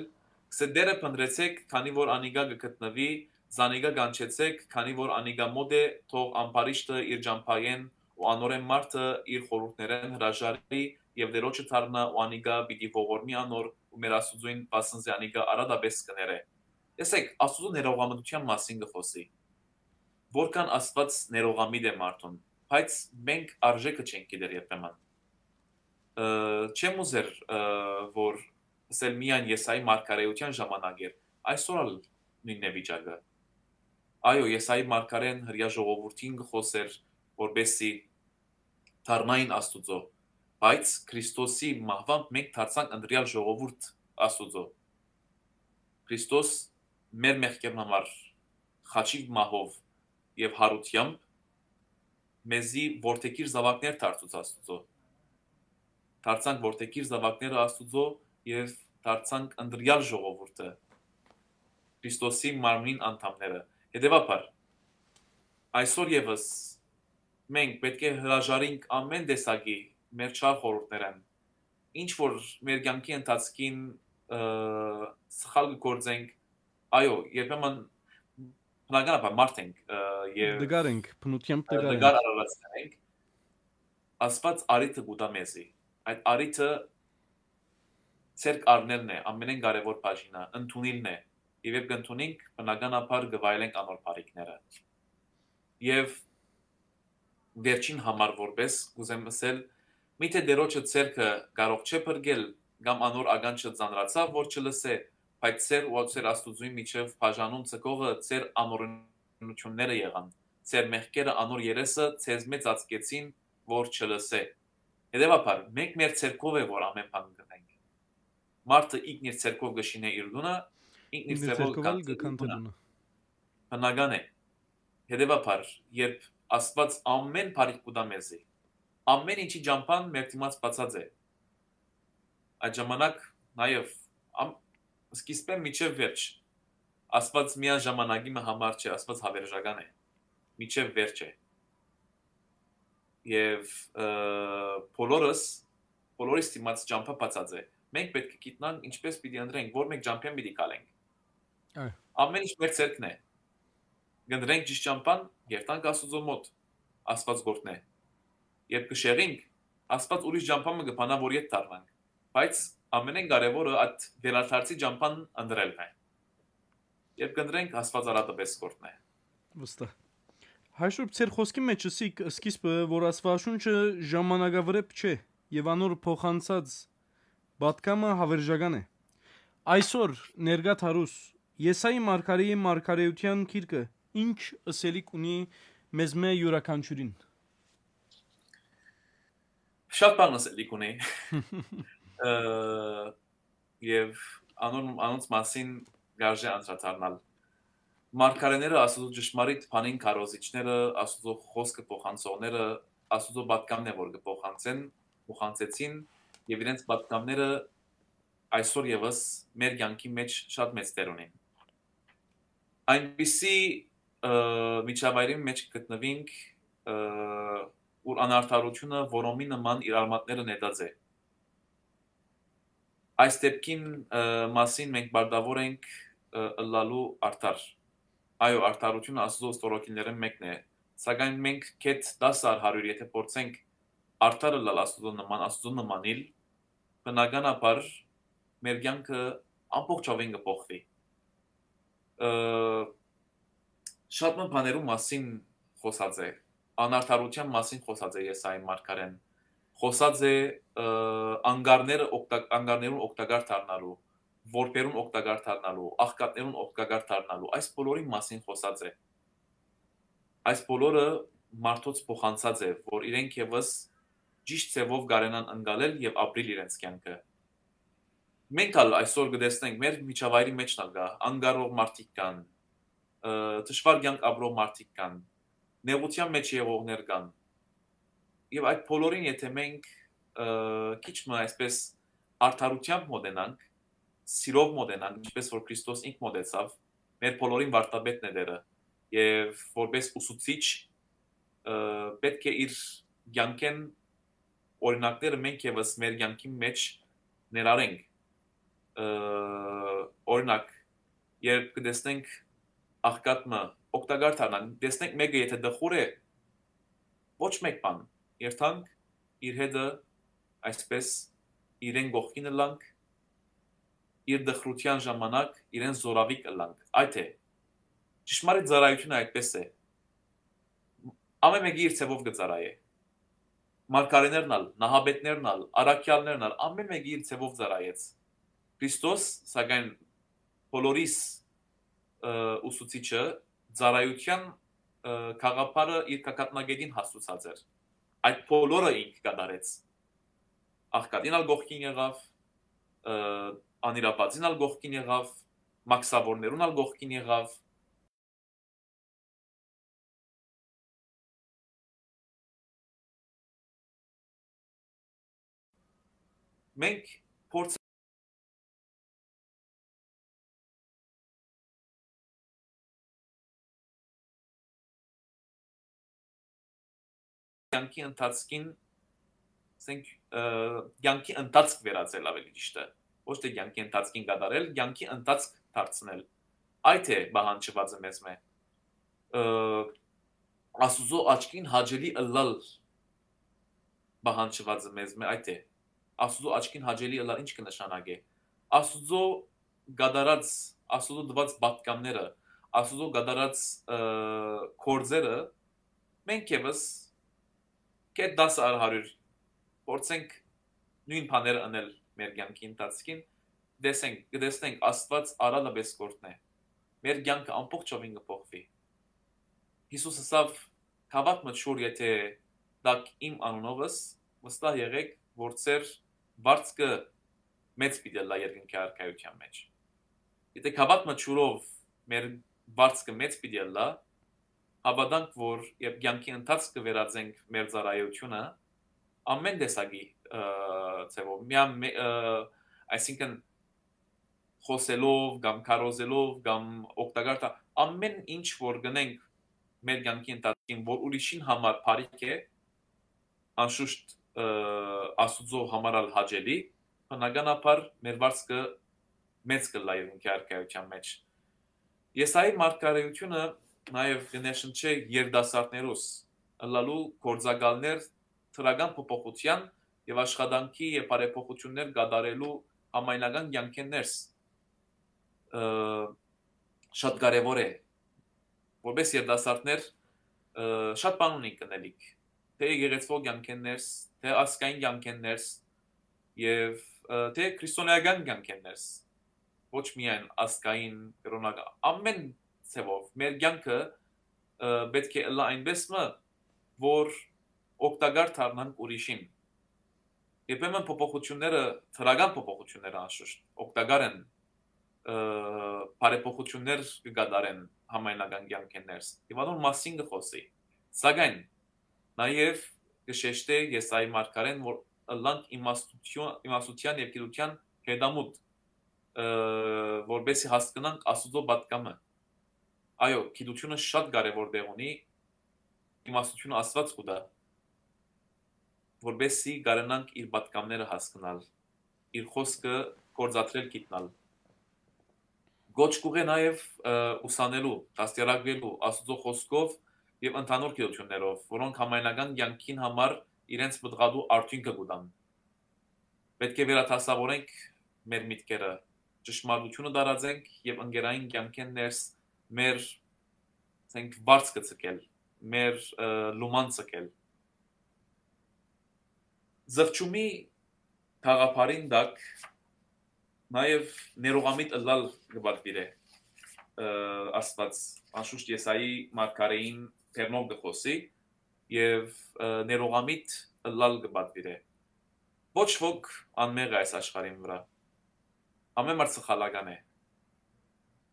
կսե Տէրը փնտռեցէք, քանի որ անիկա կը գտնուի, զանիկա կանչեցէք, քանի որ անիկա մօտ է, թող ամբարիշտը իր ճամբայէն ու անորէն մարդը իր խորհուրդներէն հրաժարի եւ Տէրոջը դառնայ ու անիկա պիտի ողորմի անոր ու մեր Աստուծոյն, վասն զի անիկա արատապէս կը ներէ։ Տեսեք, Աստուծոյ ներողամտութեան մասին կը խօսի, որքան Աստուած ներողամիտ է մարդուն, բայց մենք արժէքը չենք գիտեր երբեմն։ Ը, չեմ ուզեր, ը, որ ասել միայն Եսայի մարգարէութեան ժամանակ էր, այսօր ալ նոյնն է վիճակը։ Այո, Եսայի մարգարէն հրեայ ժողովուրդին կը խօսէր, որպեսզի դառնային Աստուծոյ, բայց Քրիստոսի մահուամբ մենք դարձանք ընտրեալ ժողովուրդ Աստուծոյ։ Քրիստոս մեր մեղքերուն համար խաչի մահով եւ յարութեամբ մեզի որդեգիր զաւակներ դարձուց Աստուծոյ։ Դարձանք որդեգիր զաւակները Աստուծոյ եւ դարձանք ընտրեալ ժողովուրդը, Քրիստոսի մարմնին անդամները։ Հետեւաբար, այսօր եւս մենք պէտք է հրաժարինք ամէն տեսակի մեր չար խորհուրդներէն, ինչ որ մեր կեանքի ընթացքին, ը, սխալ կը գործենք, այո, երբեմն բնականաբար մարդ ենք, ը, եւ Դգար ենք, բնութեամբ ը, դգար ենք։ Դգար արարածներ ենք, Աստուած արիթը կու տայ մեզի։ Այդ արիթը ձեռք առնելն է, ամենէն կարեւոր բաժինը, ընդունիլն է։ Եվ երբ կընդունենք, բնականաբար կը վայելենք անոր բարիքները։ Եվ վերջին համար որպես կ'ուզեմ ըսել, միթե Տէրոջը ձեռքը կարող չէ փրկել, կամ անոր ականջը ծանրացաւ, որ չլսէ, բայց ձեր ու ձեր Աստուծոյ միջեւ բաժանում ձգողը ձեր անօրենությունները եղան, ձեր մեղքերը անոր երեսը ձեզմէ ծածկեցին, որ չլսէ։ Հետեւաբար, մենք մեր ձեռքով է, որ ամէն բան կ'ընենք։ Մարդը ինքն իր ձեռքով կը շինէ իր տունը, ինքն իր Ինքն իր ձեռքով ձեռքով ալ կը քանչի իր քանչի տունը։ Տունը։ Բնական է։ Հետեւաբար, երբ Աստուած ամէն բարիք կու տայ մեզի, ամէն ինչի ճամբան մեր դիմաց բացած է, այդ ժամանակ նաեւ ամ-, սկիզբէն մինչեւ վերջ, Աստուած միան ժամանակի մը համար չէ, Աստուած հավերժական է, մինչեւ վերջ է։ Եւ, ը, բոլորս, բոլորիս դիմաց ճամբա բացած է։ Մենք պէտք է գիտնանք ինչպէս պիտի ընտրենք, որ մենք ճամբեն պիտի գալենք։ Այո։ Ամէն ինչ մեր ձեռքն է։ Կընտրենք ճիշտ ճամբան, երթանք Աստուծոյ մօտ, Աստուած կ'օգնէ։ Երբ կը շեղինք, Աստուած ուրիշ ճամբան մը կը բանայ, որ ետ դառնանք։ Բայց ամենէն կարեւորը այդ վերադարձի ճամբան ընտրելն է։ Երբ կընտրենք, Աստուած արատը պէս կ'օգնէ։ Վստահ։ Հայրշուրբ, ձեր խօսքի մեջ ըսիք սկիզբը, որ Աստուածաշունչը ժամանակավրեպ չէ եւ անոր փոխանցած պատգամը հավերժական է։ Այսօր ներկա դարուս Եսայի մարգարեի մարգարէութեան գիրքը ինչ ըսելիք ունի մեզմէ յուրաքանչիւրին։ Շատ բան ըսելիք ունի։ Ը, եւ անոր, անոնց մասին կարժէ անդրադառնալ։ Մարգարեները, Աստուծոյ ճշմարիտ բանին քարոզիչները, Աստուծոյ խօսքը փոխանցողները, Աստուծոյ պատգամն է, որ կը փոխանցեն, փոխանցեցին, եւ իրենց պատգամները այսօր եւս մեր կեանքի մեջ շատ մեծ դեր ունին։ Այնպիսի, ը, միջավայրի մեջ գտնուինք, ը, ուր անարդարությունը որոմի նման իր արմատները նետած է։ Այս դեպքին, ը, մասին մենք պարտավոր ենք, ը, ըլլալու արդար։ Այո, արդարությունը Աստուծոյ ստորոգիններէն մեկն է, սակայն մենք կետ տասը առ հարիւր եթէ փորձենք արդար ըլլալ Աստուծոյ նման, Աստուծոյ նմանիլ, բնականաբար մեր կեանքը ամբողջովին կը փոխուի։ Ը, շատ մը բաներու մասին խօսած է, անարդարութեան մասին խօսած է Եսայի մարգարեն, խօսած է, ը, անկարները օգտակ-, անկարներուն օգտակար դառնալու, որբերուն օգտակար դառնալու, աղքատներուն օգտակար դառնալու, այս բոլորին մասին խօսած է։ Այս բոլորը մարդոց փոխանցած է, որ իրենք եւս ճիշտ ձեւով կարենան ընկալել եւ ապրիլ իրենց կեանքը։ Մենք ալ այսօր կը տեսնենք, մեր միջավայրի մեջ ալ կա, անկարող մարդիկ կան, ը, դժուար կեանք ապրող մարդիկ կան, նեղութեան մեջ եղողներ կան, Եւ այդ բոլորին, եթե մենք, ը, քիչ մը այսպես արդարութեամբ մոտենանք, սիրով մոտենանք, ինչպես որ Քրիստոս ինք մոտեցաւ, մեր բոլորին վարդապետն է Տէրը, եւ որպես ուսուցիչ, ը, պէտք է իր կեանքէն օրինակները մենք եւս մեր կեանքին մէջ ներառենք։ Ը, օրինակ, երբ կը տեսնենք աղքատ մը, օգտակար դառնանք, տեսնենք մէկը եթե տխուր է, ոչ մեկ բան, երթանք իր հետը, այսպես իրեն կողքին ըլլանք, իր տխրութեան ժամանակ իրեն զորավիգ ըլլանք։ Այդ է, ճշմարիտ ծառայությունը այդպես է։ Ամէն մէկը իր ձեւով կը ծառայէ։ Մարգարեներն ալ, նահապետներն ալ, առաքեալներն ալ, ամէն մէկը իր ձեւով ծառայեց։ Քրիստոս, սակայն, բոլորիս, ը, ուսուցիչը, ծառայութեան, ը, գաղափարը իր գագաթնակէտին հասցուցած էր։ Այդ բոլորը ինք կատարեց։ Աղքատին ալ կողքին եղաւ, ը, անիրապատին ալ կողքին եղաւ, մաքսաւորներուն ալ կողքին եղաւ։ Մենք փորձ կյանքի ընթացքին, ասենք, ը, կյանքի ընթացք վերածել, ավելի ճիշտ է, ոչ թե կյանքի ընթացքին կատարել, կյանքի ընթացք դարձնել։ Այդ է պահանջվածը մեզմէ։ Ը, Աստուծոյ աչքին հաճելի ըլլալ պահանջվածը մեզմէ, այդ է։ Աստուծոյ աչքին հաճելի ըլլալ ինչ կը նշանակէ։ Աստուծոյ կատարած, Աստուծոյ տուած պատգամները, Աստուծոյ կատարած, ը, գործերը, մենք եւս կետ տասը առ հարիւր փորձենք նոյն բաները ընել մեր կեանքի ընթացքին, տեսենք, կտեսնենք Աստուած արարածը պես կ'օրհնէ։ Մեր կեանքը ամբողջովին կը փոխուի։ Յիսուս ըսաւ. «Գաւաթ մը ջուր եթե տաք իմ անունովս, վստահ եղէք, որ ձեր վարձքը մեծ պիտի ըլլայ երկնքի արքայութեան մէջ»։ Եթե գաւաթ մը ջուրով մեր վարձքը մեծ պիտի ըլլայ, հաւատանք, որ երբ կեանքի ընթացքը վերածենք մեր ծառայությունը, ամէն տեսակի, ը, ձևով, միայն մե-, ը, այսինքն, խօսելով կամ քարոզելով կամ օգտակար տա-, ամէն ինչ որ գնենք մեր կեանքի ընթացքին, որ ուրիշին համար բարիք է, անշուշտ, ը, Աստուծոյ համար ալ հաճելի, բնականաբար մեր վարձքը մեծ կ'ըլլայ երկնքի արքայութեան մէջ։ Եսայի մարգարէութիւնը նաեւ կը ներշնչէ երիտասարդներուս ըլլալու գործակալներ դրական փոփոխութեան եւ աշխատանքի եւ բարեփոխութիւններ կատարելու համայնական կեանքէն ներս, ը, շատ կարեւոր է, որպէս երիտասարդներ, ը, շատ բան ունենք կ'ընելիք, թէ եկեղեցւոյ կեանքէն ներս, թէ ազգային կեանքէն ներս եւ, ը, թէ քրիստոնէական կեանքէն ներս, ոչ միայն ազգային, կրօնական, ամէն ձեւով մեր կեանքը, ը, պէտք է ըլլայ այնպէս մը, որ օգտակար դառնանք ուրիշին։ Երբեմն փոփոխութիւնները, դրական փոփոխութիւնները անշուշտ օգտակար են, ը, բարեփոխութիւններ կը կատարեն համայնական կեանքէն ներս, եւ անոր մասին կը խօսի։ Սակայն նաեւ կը շեշտէ Եսայի մարգարէն, որ ըլլանք իմաստութիւն-, իմաստութեան եւ գիտութեան հետամուտ, ը, որպեսզի հասկնանք Աստուծոյ պատգամը։ Այո, գիտութիւնը շատ կարեւոր տեղ ունի, իմաստութիւնը Աստուած կու տայ, որպեսզի կարենանք իր պատգամները հասկնալ, իր խօսքը գործադրել գիտնալ։ Կոչ կ'ուղղէ նաեւ, ը, ուսանելու, դաստիարակուելու Աստուծոյ խօսքով եւ ընդհանուր գիտութիւններով, որոնք համայնական կեանքին համար իրենց պտղատու արդիւնքը կու տան։ Պէտք է վերադասաւորենք մեր միտքերը, ճշմարտութիւնը տարածենք եւ ընկերային կեանքէն ներս մեր, ասենք, վարձքը ձգել, մեր, ը, լուման ձգել։ Զղջումի գաղափարին տակ նաեւ ներողամիտ ըլլալ կը պատուիրէ, ը, Աստուած, անշուշտ Եսայի մարգարէին դերնով կը խօսի եւ, ը, ներողամիտ ըլլալ կը պատուիրէ։ Ոչ ոք անմեղ է այս աշխարհին վրայ։ Ամէն մարդ սխալական է։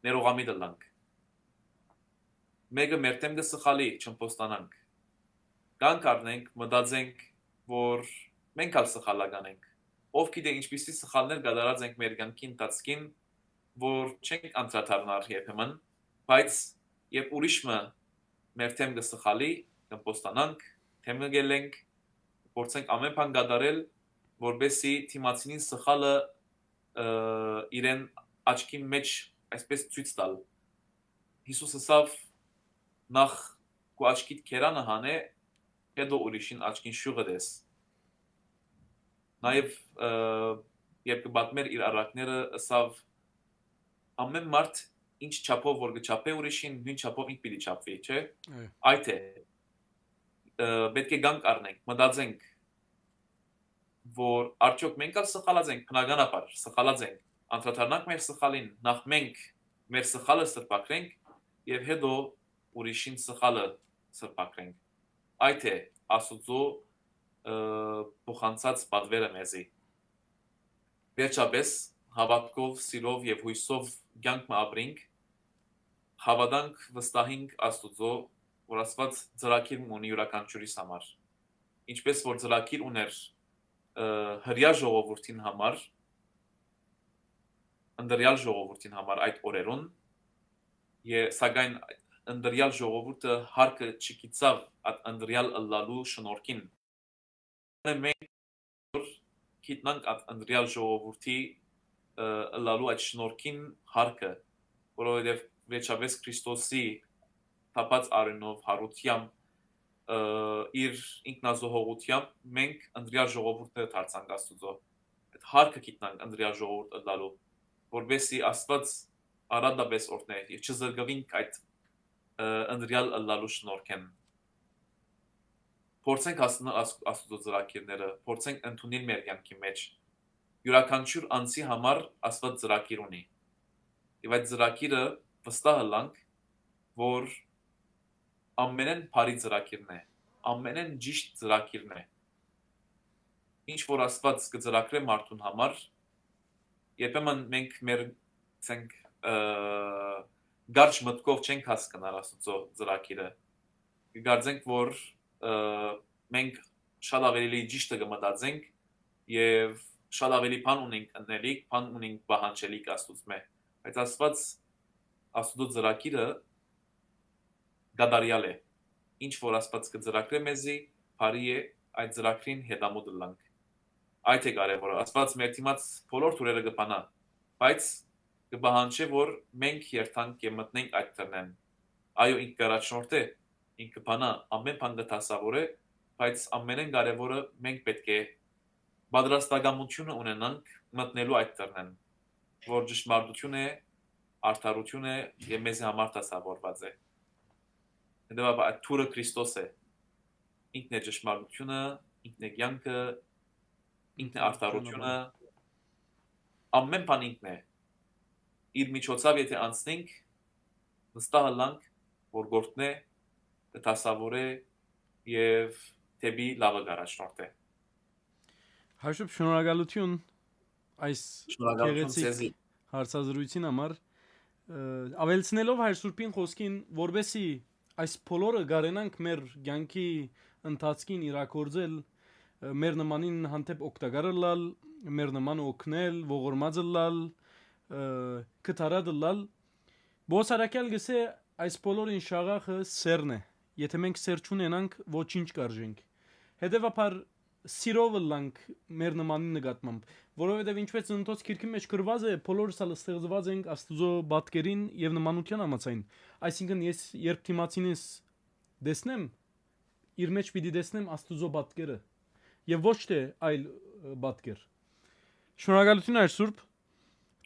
Ներողամիտ ըլլանք։ Մէկը մեր դէմ կը սխալի, չըմբոստանանք։ կանգ առնենք, մտածենք, որ մենք ալ սխալական ենք։ Ով գիտէ ինչպիսի սխալներ կատարած ենք մեր կյանքի ընթացքին, որ չենք անդրադառնար երբեմն, բայց երբ ուրիշ մը մեր դէմ կը սխալի, կմպոստանանք, դէմ կը գելենք, փորձենք ամէն բան կատարել, որպեսզի դիմացինին սխալը, ը, իրեն աչքին մէջ այսպես ցոյց տալ։ Յիսուս ըսաւ. «Նախ քու աչքիդ քերանը հանէ, հետո ուրիշին աչքին շիւղը տես»։ Նաեւ, ը, երբ կը պատմէր իր առակները, ըսաւ. «Ամէն մարդ ինչ չափով որ կը չափէ ուրիշին, նոյն չափով ինք պիտի չափուի», չէ՞։ Այո։ Այդ է, ը, պէտք է կանգ առնենք, մտածենք, որ արդյոք մենք ալ սխալած ենք, բնականաբար սխալած ենք, անդրադառնանք մեր սխալին, նախ մենք մեր սխալը սրբագրենք եւ հետո ուրիշին սխալը սրբագրենք։ Այդ է Աստուծոյ, ը, փոխանցած պատվերը մեզի։ Վերջապէս, հաւատքով, սիրով եւ յոյսով կեանք մը ապրինք, հաւատանք, վստահինք Աստուծոյ, որ Աստուած ծրագիր մը ունի իւրաքանչիւրիս համար։ Ինչպէս որ ծրագիր ուներ, ը, հրեայ ժողովուրդին համար, ընտրեալ ժողովուրդին համար այդ օրերուն, է, սակայն ընտրեալ ժողովուրդը հարկը չգիտցաւ այդ ընտրեալ ըլլալու շնորհքին։ Մենք գիտնանք այդ ընտրեալ ժողովուրդի, ը, ըլլալու այդ շնորհքին հարկը, որովհետեւ վերջապէս Քրիստոսի թափած արիւնով, յարութեամբ, ը, իր ինքնազոհողութեամբ մենք ընտրեալ ժողովուրդները դարձանք Աստուծոյ։ Այդ հարկը գիտնանք ընտրեալ ժողովուրդ ըլլալու, որպեսզի Աստուած արատապէս օրհնէ եւ չզրկուինք այդ, ը, ընտրեալ ըլլալու շնորհքէն։ Փորձենք հասնալ Աս-, Աստուծոյ ծրագիրները, փորձենք ընդունիլ մեր կեանքի մէջ։ Իւրաքանչիւր անձի համար Աստուած ծրագիր ունի։ Եւ այդ ծրագիրը վստահ ըլլանք, որ ամենէն բարի ծրագիրն է, ամենէն ճիշդ ծրագիրն է։ Ինչ որ Աստուած կը ծրագրէ մարդուն համար, երբեմն մենք մեր, ասենք, ը, կարճ մտքով չենք հասկնար Աստուծոյ ծրագիրը։ Կկարծենք, որ, ը, մենք շատ ավելի ճիշդը կը մտածենք եւ շատ ավելի բան ունենք ընելիք, բան ունենք պահանջելիք Աստուծմէ։ Բայց Աստուած, Աստուծոյ ծրագիրը կատարեալ է։ Ինչ որ Աստուած կը ծրագրէ մեզի, բարի է, այդ ծրագրին հետամուտ ըլլանք։ Այդ է կարեւորը։ Աստուած մեր դիմաց բոլոր դուռերը կը բանայ, բայց կը պահանջէ, որ մենք երթանք եւ մտնենք այդ դռնէն։ Այո, ինք կ'առաջնորդէ, ինք կը բանայ, ամէն բան կը դասաւորէ, բայց ամենէն կարեւորը մենք պէտք է պատրաստակամութիւնը ունենանք մտնելու այդ դռնէն, որ ճշմարտութիւն է, արդարութիւն է եւ մեզի համար դասաւորուած է։ Հետեւաբար այդ դուռը Քրիստոս է։ Ինքն է ճշմարտութիւնը, ինքն է կեանքը, ինքն է արդարութիւնը, ամէն բան ինքն է։ Իր միջոցով եթէ անցնենք, վստահ ըլլանք, որ գործնէ, կը դասաւորէ եւ դէպի լաւը կ'առաջնորդէ։ Հաշուբ, շնորհակալութիւն այս Շնորհակալութիւն գեղեցիկ ձեզի։ Հարցազրույցին համար։ Ը, ավելցնելով Հայր Սուրբին խօսքին, որպեսզի այս բոլորը կարենանք մեր կեանքի ընթացքին իրագործել, ը, մեր նմանին հանդէպ օգտակար ըլլալ, մեր նմանը օգնել, ողորմած ըլլալ, ը, կտարատ ըլլալ, Պողոս առաքեալ կ'ըսէ. «Այս բոլորին շաղախը սէրն է։ Եթէ մենք սէր չունենանք, ոչինչ կ'արժենք»։ Հետեւաբար, սիրով ըլլանք մեր նմանին նկատմամբ, որովհետեւ, ինչպէս Ծննդոց գիրքի մէջ գրուած է, բոլորս ալ ստեղծուած ենք Աստուծոյ պատկերին եւ նմանութեան համաձայն։ Այսինքն, ես երբ դիմացինիս տեսնեմ, իր մէջ պիտի տեսնեմ Աստուծոյ պատկերը եւ ոչ թէ այլ, ը, պատկեր։ Շնորհակալութիւն, Հայր Սուրբ։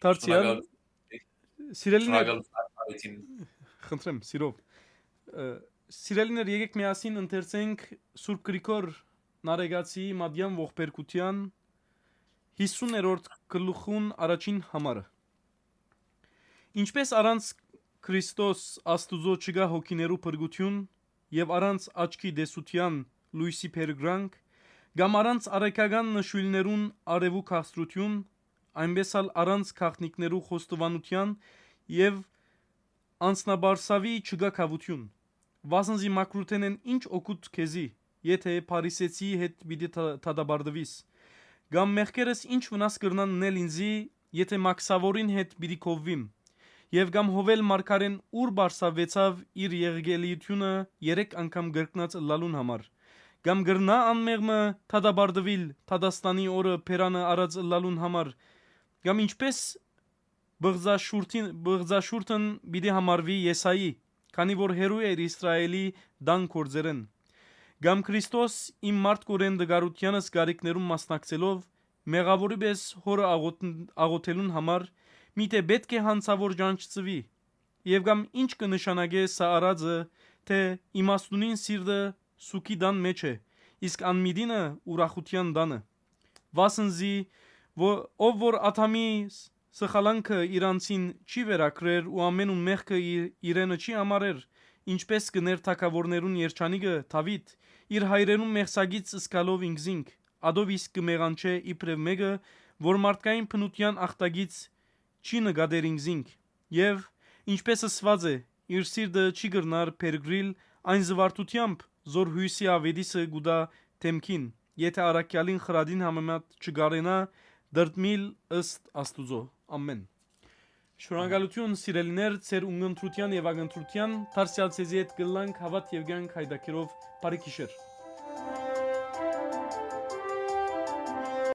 Դարձեալ, Շնորհակալ-, սիրելիներ, շնորհակալութիւն։ Խնդրեմ, սիրով։ Ը, սիրելիներ, եկեք միասին ընթերցենք Սուրբ Գրիգոր Նարեկացիի մատեան ողբերգութեան յիսուներորդ գլուխուն առաջին համարը։ Ինչպէս առանց Քրիստոս Աստուծոյ չկայ հոգիներու փրկութիւն եւ առանց աչքի տեսութեան լոյսի փերկրանք, կամ առանց առեգական նշոյլներուն արեւու քաղցրութիւն, այնպէս ալ առանց գաղտնիքներու խոստովանութեան եւ անձնաբարսաւի չկայ գաւութիւն։ Վասն զի մաքրութենէն ի՞նչ օգուտ քեզի, եթէ փարիսեցիի հետ պիտի թա-, դատապարտուիս։ Կամ մեղքերս ի՞նչ վնաս կրնան ընել ինծի, եթէ մաքսաւորին հետ պիտի կովուիմ։ Եւ կամ Յովէլ մարգարէն ո՞ւր պարսաւեցաւ իր եղկելիութիւնը երեք անգամ կրկնած ըլլալուն համար։ Կամ կրնա՞ անմեղ մը դատապարտուիլ դատաստանի օրը բերանը առած ըլլալուն համար։ Կամ ինչպէս բղծաշուրթին, բղծաշուրթն պիտի համարուի Եսայի, քանի որ հեռու էր Իսրայէլի տան գործերէն։ Կամ Քրիստոս իմ մարդկօրէն տկարութեանս կարիքներուն մասնակցելով, մեղաւորի պէս Հօրը աղոթ-, աղոթելուն համար, միթէ պէտք է յանցաւոր ճանչցուի։ Եւ կամ ի՞նչ կը նշանակէ սա արածը, թէ իմաստունին սիրտը սուգի տան մէջ է, իսկ անմիտինը՝ ուրախութեան տանը։ Վասն զի, ո-, ով որ Ադամի ս-, սխալանքը իրանցին չի վերագրեր ու ամենուն մեղքը իր, իրենը չի համարեր, ինչպէս կ'ընէր թագաւորներուն երջանիկը Դաւիթ, իր հայրերուն մեղսակից զգալով ինքզինք, ատով իսկ կը մեղանչէ իբրեւ մէկը, որ մարդկային բնութեան ախտակից չի նկատեր ինքզինք։ Եւ, ինչպէս ըսուած է, իր սիրտը չի կրնար փերկրիլ այն զուարթութեամբ, զոր յոյսի աւետիսը կու տայ դէմքին, եթէ առաքեալին խրատին համեմատ չկարենայ դրդմիլ ըստ Աստուծոյ։ Ամէն։ Շնորհակալութիւն, սիրելիներ, ձեր ունգընտրութեան եւ ակնթրութեան, դարձեալ ձեզի հետ կ'ըլլանք հաւատ եւ կեանք յայտագիրով։ Բարի գիշեր։